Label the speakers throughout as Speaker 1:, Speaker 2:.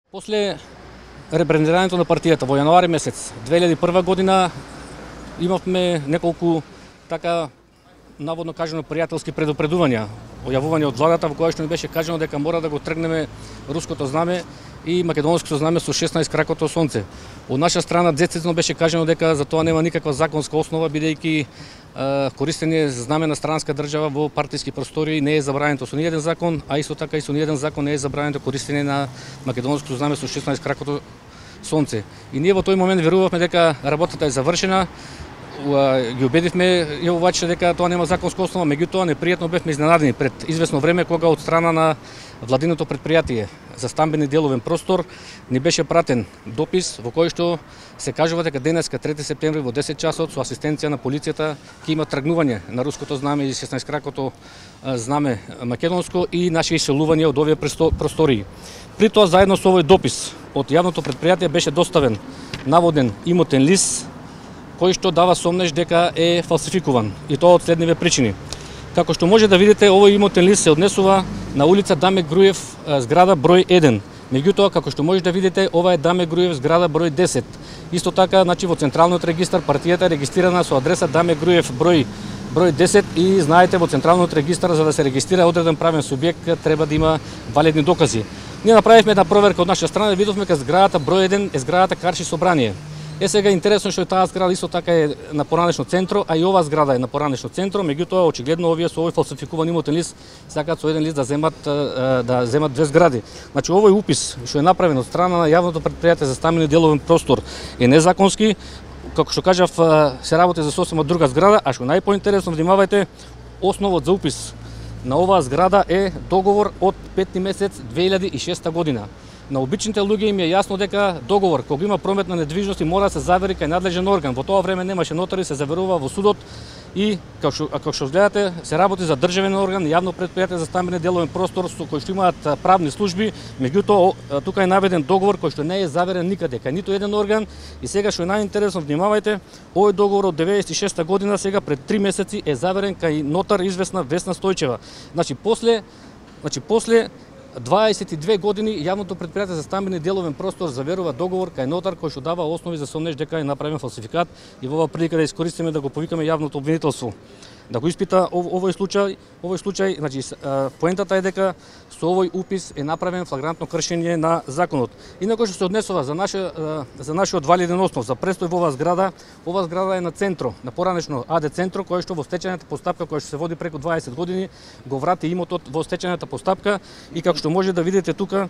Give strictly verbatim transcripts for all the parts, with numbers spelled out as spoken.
Speaker 1: После ребрендирањето на партијата во јануари месец две илјади и прва година имавме неколку така наводно кажано пријателски предупредувања, ојавување од владата во која што ни беше кажано дека мора да го тргнеме руското знаме и македонското знаме со шеснаесет кракото сонце. Од наша страна децизно беше кажано дека за тоа нема никаква законска основа, бидејќи користење знаме на странска држава во партиски простори не е забрането со ниеден закон, а исто така и со ниеден закон не е забрането користење на македонското знаме со шеснаесет кракото сонце. И ние во тој момент верувавме дека работата е завршена, ги убедивме јавувачите дека тоа нема законска основа, меѓутоа непријатно бевме изненадени пред извесно време кога од страна на владиното предпријатие за стамбени деловен простор ни беше пратен допис во кој што се кажува дека денеска трети септември во десет часот со асистенција на полицијата ќе има тргнување на руското знаме и шеснаесет кракото знаме македонско и наши иселување од овие простории. При тоа заедно со овој допис од јавното предпријатие беше доставен наводен имотен лист кој што дава сомнеж дека е фалсификуван, и тоа од следниве причини. Како што може да видите, овој имотен лист се однесува на улица Даме Груев, зграда број еден. Меѓутоа, како што може да видите, ова е Даме Груев, зграда број десет. Исто така, значи во централниот регистар партијата е регистрирана со адреса Даме Груев број број десет и знаете во централниот регистар за да се регистрира одреден правен субјект треба да има валидни докази. Ние направивме една проверка од наша страна и видовме дека зградата број еден е зградата Карши собрание. Е сега интересно што таа зграда исто така е на поранешно центро, а и оваа зграда е на поранешно центро, меѓутоа очигледно овие со овој фалсификуван имотен лист сакаат со еден лист да земат да земат две згради. Значи овој упис што е направен од страна на јавното предпријатие за стамбени деловен простор е незаконски, како што кажав се работи за сосема друга зграда, а што најпоинтересно внимавајте, основот за упис на оваа зграда е договор од петти месец две илјади и шеста година. На обичните луѓе им е јасно дека договор кога има промет на недвижности мора да се завери кај надлежен орган. Во тоа време немаше нотари, се заверува во судот и како што како што гледате се работи за државен орган, јавно предпријатие за стамбени деловен простор со кој што имаат правни служби, меѓутоа тука е наведен договор кој што не е заверен никаде кај ниту еден орган. И сега што е најинтересно, внимавајте, овој договор од деветдесет и шеста година сега пред три месеци е заверен кај нотар известна Весна Стојчева. Значи после значи после дваесет и две години јавното предпријатие за стамбени деловен простор заверува договор кај нотар кој што дава основи за сомнеж дека е направен фалсификат, и во оваа прилика да искористиме да го повикаме јавното обвинителство да го испита овој случај. Овој случај, значи поентата е дека со овој упис е направен флагрантно кршење на законот. Инаку што се однесува за наше за нашиот валиден основ за престој во оваа зграда, оваа зграда е на центро, на поранешно АД центро, кој што во стечајната постапка која што се води преку дваесет години го врати имотот во стечајната постапка, и како што може да видите тука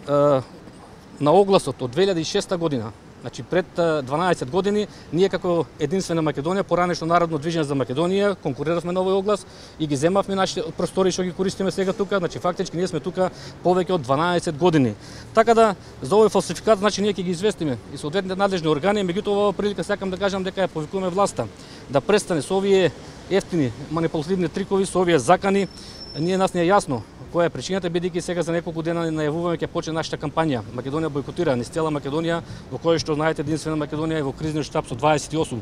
Speaker 1: на огласот од две илјади и шеста година, значи пред дванаесет години, ние како единствена Македонија, поранешно Народно движење за Македонија, конкуриравме на овој оглас и ги земавме нашите простори што ги користиме сега тука. Значи фактички ние сме тука повеќе од дванаесет години. Така да за овој фалсификат значи ние ќе ги известиме и соодветните надлежни органи, меѓутоа во оваа прилика сакам да кажам дека ја повикуваме власта да престане со овие ефтини манипулативни трикови, со овие закани. Ние нас не е јасно која е причината, бидејќи сега за неколку дена најавуваме ќе почне нашата кампања Македонија бојкотира, низ цела Македонија, во која што знаете единствена Македонија е во кризниот штаб со дваесет и осум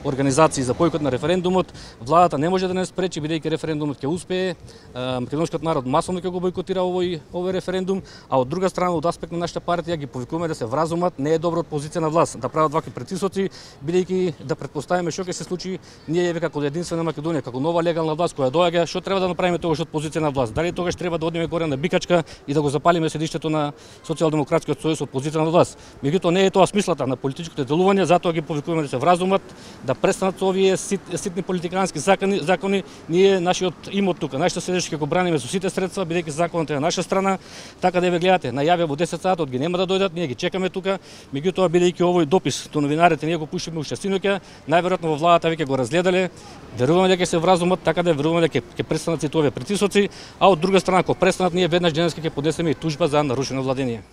Speaker 1: организации за бојкот на референдумот. Владата не може да не спречи, бидејќи референдумот ќе успее, македонскиот народ масовно ќе го бојкотира овој овој референдум, а од друга страна од аспект на нашата партија ги повикуваме да се вразумат, не е добро од позиција на власт да прават вакви притисоци, бидејќи да претпоставиме што ќе се случи, ние еве како единствена Македонија, како нова легална власт која доаѓа, што треба да направиме тогаш од позиција на власт? Дали тогаш треба да одиме горе на Бикачка и да го запалиме седиштето на Социјалдемократскиот сојуз од позиција на власт? Меѓутоа не е тоа смислата на политичките делувања, затоа ги повикуваме да се вразумат, да престанат со овие сит, ситни политикански закони, закони. Ние нашиот имот тука, нашето седиште ќе го браниме со сите средства, бидејќи законот е на наша страна. Така да ве гледате, најавија во десет сатот ги нема да дојдат, ние ги чекаме тука. Меѓутоа бидејќи овој допис до новинарите ние го пуштиме уште синоќа, најверојатно во владата веќе го разгледале, веруваме дека ќе се вразумат, така да веруваме дека ќе престанат сите овие притисоци, а од друга страна ако престанат, ние веднаш денеска ќе поднесеме и тужба за нарушено владење.